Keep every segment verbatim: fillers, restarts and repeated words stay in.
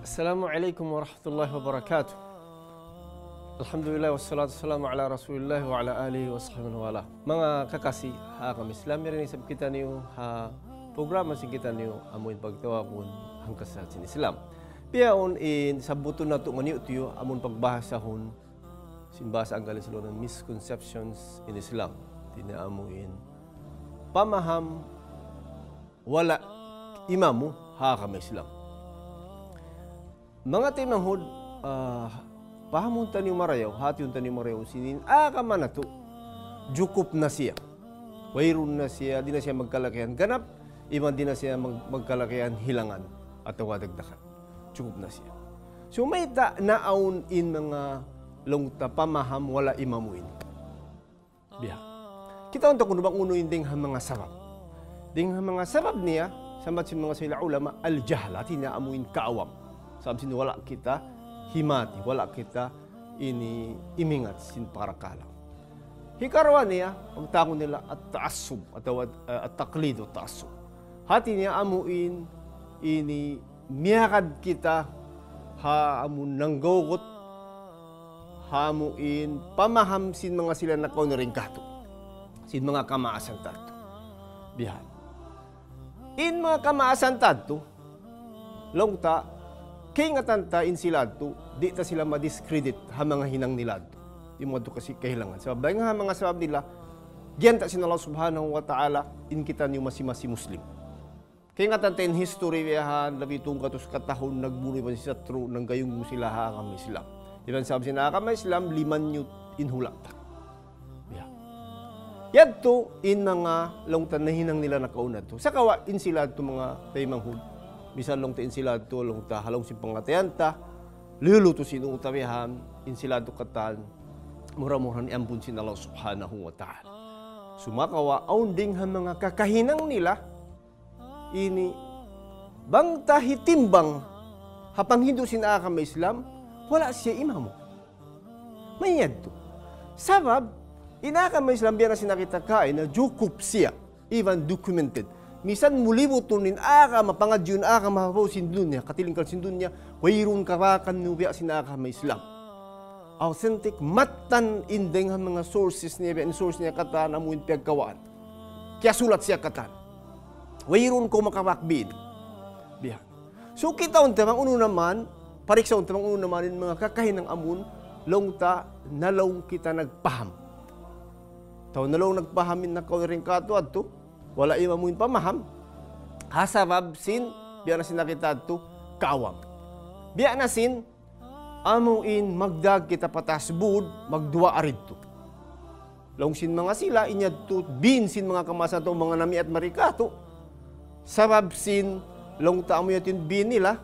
Assalamu alaykum warahmatullahi wabarakatuh. Alhamdulillah, wassalatu wassalamu ala rasulillah wa ala alihi wa sahbihi wa ala. Manga kakasi ha agama Islam, yari ni isab kitaniyu ha programa sin kitaniyu amu in pagtawagun Hangkasahat sin Islam. Bihaun in sabbutun natu' ngan yu' tiyu' amun pagbahasahun sin bahasa Anggalis laung misconceptions in Islam. Hati niya amu in pamaham wala' imamu ha agama Islam. Manga taymanghud, ah, pahamun taniyu marayaw, hatihun taniyu marayaw sin in agama natu', jukup na siya. Wayruun na siya, di' na siya magkalakihan ganap, iban di' na siya mag-, magkalakihan hilangan atawa dagdagan. Jukup na siya. So, mayta' naawn in manga laung ta pamaham wala' imamu ini. Biya'. Kitaun ta kunu' bang unu in dayng ha manga sabab. Dayng ha manga sabab niya, sambat sin manga sila ulama, al-jahl, hati niya amu in kaawam. Sabab sin wala' kita himati, wala' kita ini imingat sin parakala'. Hikaruwa niya, pagtawagun nila at-ta'assub, atawa, eh, at-taqlid wa ta'assub. Hati niya amu in ini miyagad kita ha amun nanggawgut, ha amu in pamaham sin manga sila nakauna dayn kātu'. Sin manga kamaasan ta yadtu. Bihan. In manga kamaasan ta yadtu, laung ta, kaingatan ta in sila yadtu, di' ta sila ma-discredit ha manga hinang nila yadtu. Di' mu yadtu kasi kahilangan. Sabab, dayn ha manga sabab nila, giyanta' sin Allah Subhanahu wa Ta'ala, in kitaniyu masi-masi Muslim. Kaingatan ta in history biyahan, labi tunggatus katahun nagbunu' iban sin satru', nanggayunggu' sila ha agama Islam. Iban sabab sin agama Islam, limanyu' in hula' ta. Ya. Yadtu in manga laung ta nahinang nila nakauna yadtu. Sagawa' in sila yadtu manga taymanghud. Misan laung ta in sila yadtu, laung ta ha lawm sin pangatayan ta, liyulutu sin utawihan, in sila yadtu katan, mura-murahan iyampun sin Allah Subhanahu wa Ta'ala. Sumagawa', awn dayng ha manga kakahinang nila, ini, bang ta hitimbang ha panghindu' sin agama Islam, wala' siya imamu. Mayadtu. Sabab, in agama Islam biya' na sin kita kaina, jukup siya, even documented. Misan mu libutun in agama, pangadjiun agama, ha babaw sin dunya, katilingkal sin dunya, wayruun kabakan mu biya' sin agama Islam. Authentic, mattan in dayng ha manga sources niya, biya' in source niya katan, amu in piyagkawaan. Kiyasulat siya katan. Wayruun kaw makabak biin. Biya'. So, kitaun ta bang unu naman, pariksaun ta bang unu naman in manga kakahinang amun, laung ta, na laung kita nagpaham. Tau na laung nagpaham in nakauna dayn kātu' yadtu, wala' imamu in pamaham. Ha sabab sin, biya' na sin kita yadtu, kaawam. Biya' na sin, amu in magdag kita pa taas būd, magduwaa didtu. Laung sin manga sila, in yadtu, biin sin manga kamaasan ta, manga namiat mari kātu'. Sabab sin, laung ta amu yadtu in biin nila,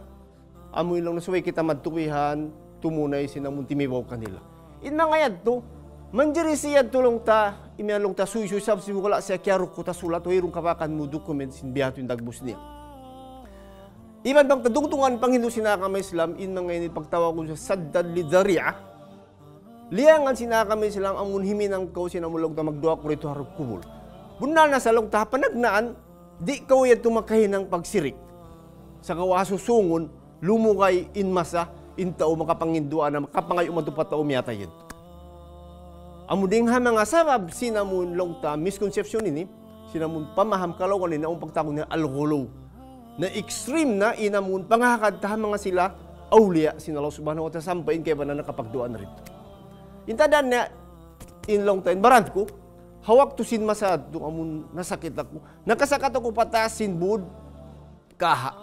amu in laung na subay kita madtukihan, tumunay sin amun timibaw kanila. In manga yadtu, manjari siya yadtu laung ta, imiyan laung ta suysuy sabab sin wala' siya kiyarukut ha sulat, wayruun kabakan mu document sin biya' hādtu in dagbus niya. Iban bang ta dungdungan panghindu' sin agama Islam, in manga ini pagtawagun saddan lidh dhari'ah. Liyangan sin agama Islam, amun himinang kaw sin amun laung ta magduwaa kaw didtu ha kubul. Bunnal na sa laung ta ha panagnaan, di' kaw yadtu makahinang pagsirik. Sagawa' ha susungun, lumugay in masa, in tau makapanghindu' na, makapangayu' madtu pa tau miyatay yadtu. Amu dayng ha manga sabab sin amun laung ta misconception ini, sin amun pamaham kalawagan ini, amun pagtawagun niya al-ghuluw. Na extreme na in amun pangahagad ta ha manga sila awliya sin Allah Subhanahu wa Ta'ala sampay in kaibanan nakapagduwaa na didtu. In tanda' niya, in laung ta in baran ku, ha waktu sin masa yadtu amun nasakit aku, nakasakat aku pa taas sin būd, kaha.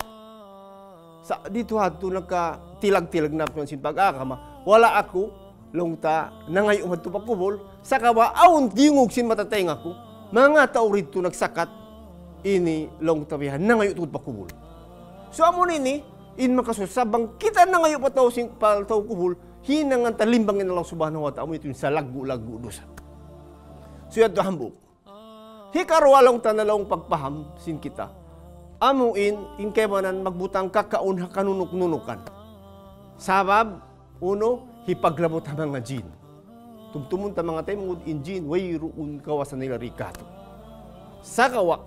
Sa' didtu ha yadtu nakatilag-tilag na aku sin pag-agama. Wala' aku, laung ta, nangayu' madtu pa kubul. Sagawa' awn diyungug sin mata taynga ku. Manga tau didtu nagsakat. Ini laung ta bihan, nangayu' tuud pa kubul. So amun ini, in makasusa bang kita nangayu' pa tau sin, pa tau kubul, hinangan ta limbang in Allah Subhanahu wa Ta'ala, amu yadtu in salaggu'-laggu' dusa. So yadtu hambuuk. Hikaruwa laung ta na laung pagpaham sin kita. Amu in, in kaibanan magbutang kakaun ha kanunuk-nunukan. Sabab, unu, hipaglabut ha manga jin. Tumtumun ta manga taymanghud in jin, wayruun kawasa nila di kātu'. Sagawa',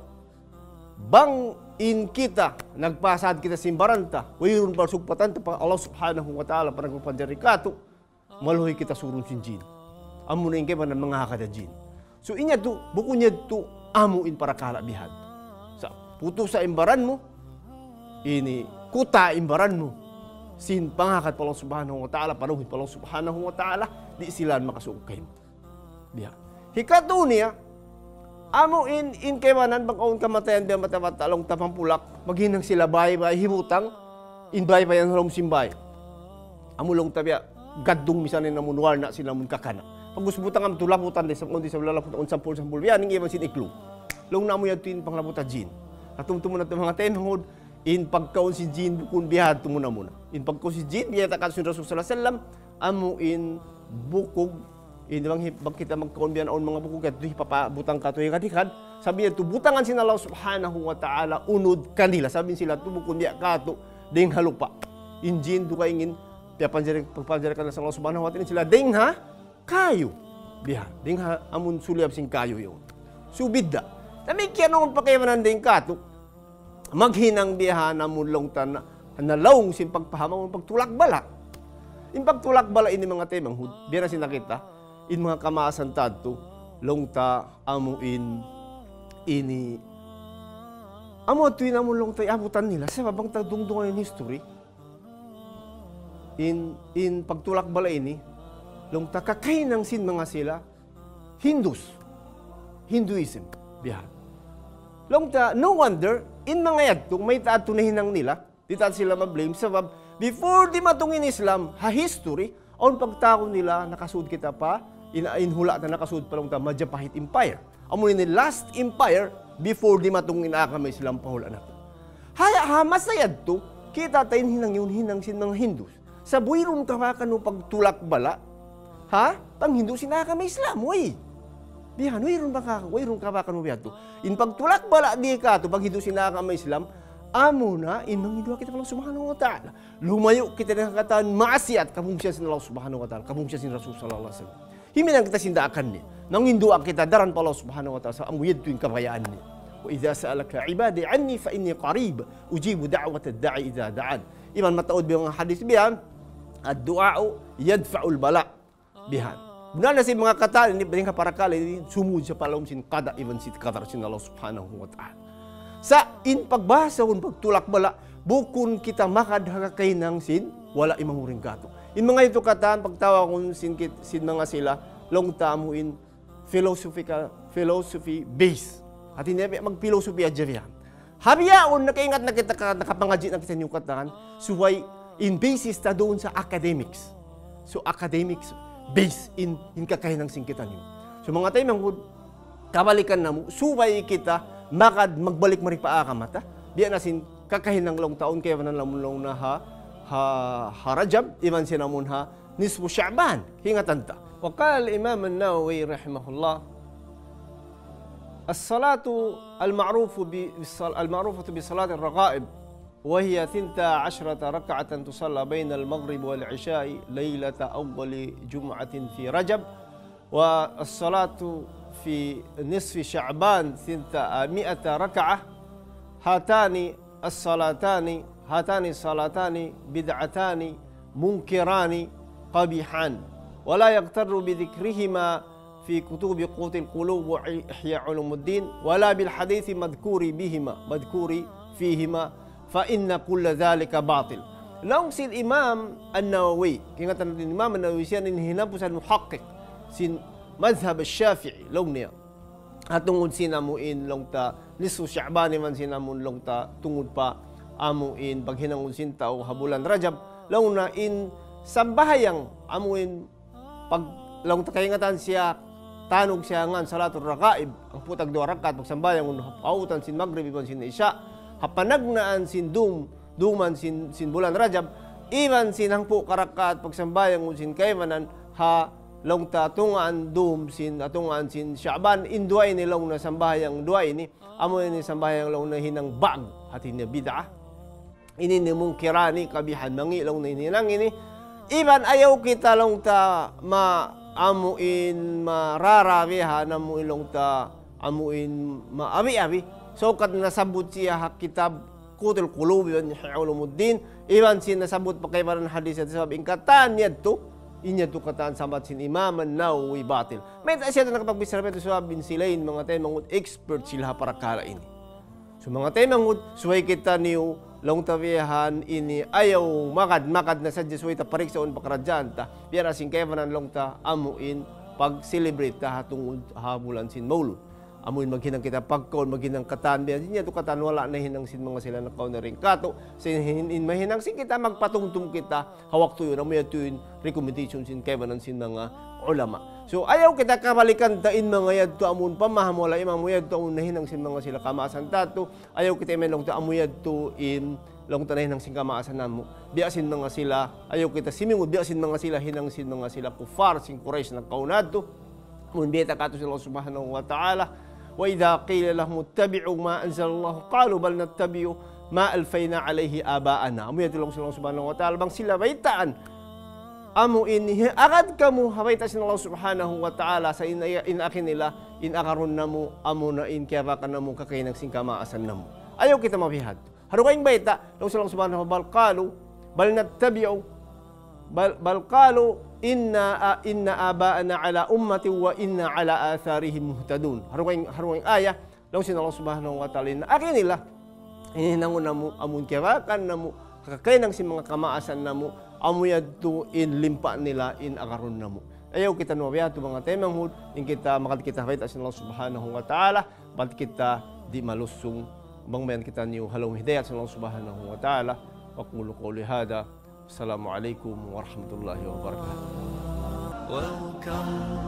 bang in kita, nagpasad kita sin baran ta, wayruun pagsugpatan ta pa Allah Subhanahu wa Ta'ala, pa nagpapanjari katu', maluhay kita surun sin jin. Amuna in kaibanan mangahagad ha jin. So, in yadtu, bukun yadtu, amu in parakala' bihan. Sa', putusa in baran mu, ini, kuta in baran mu, sin pangahagad pa Allah Subhanahu wa Ta'ala, paluhay pa Allah Subhanahu wa Ta'ala, di' sila makasuuk kaymu. Biya'. Hikatu niya, amu in, in kaibanan bang awn kamatayan biya' mata-mata laung ta pampulak, maghinang sila bay-bay hibutang, in bay-bay yan ha lawm sin bay. Amu laung ta biya', gaddung misan in amun warna' sin amun kakana'. Pag-ubus butang amu tu laputan di' sa, awn di' sa lalaputan, awn sampul-sampul, biya' ning iban sin iklung. Laung na amu yadtu in panglaputan jin. Katumtuman natu' manga taymanghud, in pagkaun sin jin bukun biya' hādtu muna-muna. In pagkaun sin jin, biya' ta katu' sin Rasul sallallahu alayhi wasallam, amu in bukug, in bang hi-, bang kita magkaun biya' awn manga bukug, yadtu hipapabutang katu' hikad-hikad, sabab yadtu butangan sin Allah Subhanahu wa Ta'ala unud kanila, sabab sila tu bukun biya' katu', dayng ha lupa'. In jin dugaing in, piyapanjari, pagpanjari kanila sin Allah Subhanahu wa Ta'ala, sila dayng ha kayu. Biya', dayng ha amun suliyab sin kayu yaun. Subidda. Damikkiyan awn pa kaibanan dayng katu'. Maghinang biya' ha amun laung ta na, nalaung sin pagpaham amun pagtulak bala'. In pagtulak bala' ini manga taymanghud, biya' na sin nakita', in manga kamaasan ta yadtu, laung ta amu in, ini, amu yadtu in amun laung ta iyabutan nila, sabab bang ta dungdungan in history, in, in pagtulak bala' ini, laung ta kakahinang sin manga sila, Hindus. Hinduism. Biya' hādtu. Laung ta, no wonder, in manga yadtu, mayta' yadtu nahinang nila, di' ta sila ma-blame, sabab, before dimatung in Islam, ha history, awn pagtawagun nila, nakasud kita pa, in, in hula' ta nakasud pa laung ta, Majapahit Empire. Amu ini last empire, before dimatung in agama Islam pa hula' natu'. Haya, ha masa yadtu, kita' ta in hinang yaun hinang sin manga Hindus. Sa' wayruun kabaakan mu pagtulak bala', ha? Panghindu' sin agama Islam, way. Biya' hādtu, wayruun baka, wayruun kabaakan mu biya' hādtu. In pagtulak bala' di' katu', panghindu' sin agama Islam, amuna, in manghindu' kita pa Allah Subhanahu wa Ta'ala. Lumayu' kita dayn ha katan maasiyat, kabungsihan sin Allah Subhanahu wa Ta'ala, kabungsihan sin Rasul sallallahu alayhi wasallam. Himinang kita sin daakan niya. Manghindu' kita daran pa Allah Subhanahu wa Ta'ala, sa' amu yadtu in kabayaan niya. وإذا سألك عبادي عني فإني قريب أجيب دعوة الداع إذا دعان. Iban mataud biya' manga hadith biya' yan, الدعاء يدفع البلاء. Biya' hādtu. Bunnal na sin manga katan ini, dayn ha parakala' ini, sumud siya pa lawm sin qada iban sin qadar sin Allah Subhanahu wa Ta'ala. Sa' in pagbahasahun pagtulak bala', bukun kita magad ha kakahinang sin, wala' imamuring katu'. In manga yadtu katan, pagtawagun sin kit-, sin manga sila, laung ta amu in philosophical, philosophy base. Hāti niya, mag-philosophy hadja biya' yan. Ha bihaun, nakaingat na kita ka, nakapangadji' na kita niyu katan, subay in basis ta duun sa academics. So, academics base in, in kakahinang sin kitaniyu. So, manga taymanghud, kabalikan namu', subay kita magad magbalik mari pa agama ta. Biya' na sin kakahinang laung ta awn kaibanan lamun laung na ha, ha, ha Rajab, iban sin amun ha, نصف شعبان. Hingatan ta. وقال الإمام النووي رحمه الله: الصلاة المعروف ب-، بالصل-، المعروفة بصلاة الرغائب، وهي ثنتا عشرة ركعة تصلى بين المغرب والعشاء ليلة أول جمعة في رجب، والصلاة في نصف شعبان ثنتا مائة ركعة. هاتان الصلاتان، هاتان الصلاتان بدعتان منكران قبيحان، ولا يغتر بذكرهما في كتب قوت القلوب وإحياء علوم الدين، ولا بالحديث المذكور بهما، مذكور فيهما، فإن كل ذلك باطل. Laung sin Imam An-Nawawi, kaingatan natu' in Imam An-Nawawi siya in hinapusan muhaqqiq sin madhhab Shafi'i, laung niya. Ha tungud sin amu in laung ta nisfu Sha'ban iban sin amu in laung ta tungud pa amu in paghinangun sin tau ha bulan Rajab. Laung na in sambahayang amu in pag laung ta kaingatan siya, tanug siya ngan salatul ragaib, hangpu' tagduwa rakaat pagsambahayang ha pautan sin Magrib iban sin Isya. Ha panagnaan sin dum, duman sin, sin bulan Rajab, iban sin hangpu' karakaat pagsambahayang sin kaibanan ha laung ta tungaan dum sin, ha tungaan sin Sha'ban, in duwa ini laung na sambahayang duwa ini, amu ini sambahayang laung na hinang ba'gu, hati niya bid'ah. Ini ini munkirani kabihan mangi' laung na hinang ini. Iban ayaw kita laung ta ma-, amu in mararabihan, amu in laung ta, amu in maabi-abi. Sukat nasabbut siya ha kitab Qutul Qulub iban Ihya Ulumuddin, iban sin nasabbut pa kaibanan hadith yadtu, sabab in katan yadtu, in yadtu katan sambat sin Imam An-Nawawi batil. Mayta' siya nakapagbichara mayta' sabab in sila in manga taymanghud expert sila ha parakala' ini. So manga taymanghud, subay kitaniyu, laung ta biya' ha yan ini ayaw magad-magad na sadja subay ta pariksaun pakaradjaan ta. Biya' na sin kaibanan laung ta amu in pag-celebrate ta ha tungud ha bulan sin Maulud. Amu in maghinang kita pagkaun, maghinang katan, biya' sin yadtu katan wala' nahinang sin manga sila nakauna dayn kātu'. Sin hin-, in mahinang sin kita, magpatumtum kita, ha waktu yan, amu yadtu in recommendation sin kaibanan sin manga ulama. So, ayaw kita kabalikan ta in manga yadtu amun pamaham wala' imam yadtu amun nahinang sin manga sila kamaasan ta yadtu. Ayaw kita iman laung ta amu yadtu in laung ta nahinang sin kamaasan namu'. Biya' sin manga sila, ayaw kita simingud, biya' sin manga sila, hinang sin manga sila kuffar, sin Quraysh nakauna yadtu. Amun bayta' kātu' sin Allah Subhanahu wa Ta'ala, وإذا قيل لهم اتبعوا ما أنزل الله قالوا بل نتبع ما ألفينا عليه آباءنا. Amu yadtu laung sin Allah Subhanahu wa Ta'ala, bang sila baytaan, amu ini, agad kamu ha bayta' sin Allah Subhanahu wa Ta'ala, sa' in, in agi nila, in agarun namu', amuna in kiyabakan namu', kakahinang sin kamaasan namu'. Ayaw kita mabiya' hadtu. Ha dugaing bayta', laung sin Allah Subhanahu wa Ta'ala, بل قالوا، بل نتبع، بل، بل قالوا إنا، إن آباءنا على أمة وإنا على آثارهم مهتدون. Ha dugaing, ha dugaing ayat, laung sin Allah Subhanahu wa Ta'ala, in agi nila, in hinangun namu', amun kiyabakan namu', kakahinang sin manga kamaasan namu', amu yadtu in limpa' nila, in agarun namu'. Ayaw kita mabiya' hadtu manga taymanghud, in kita magad kita ha bayta' sin Allah Subhanahu wa Ta'ala, bat kita di' malusung, bang mayan kitaniyu ha lawm hidayat sin Allah Subhanahu wa Ta'ala. أقول قولي هذا. السلام عليكم ورحمة الله وبركاته. Welcome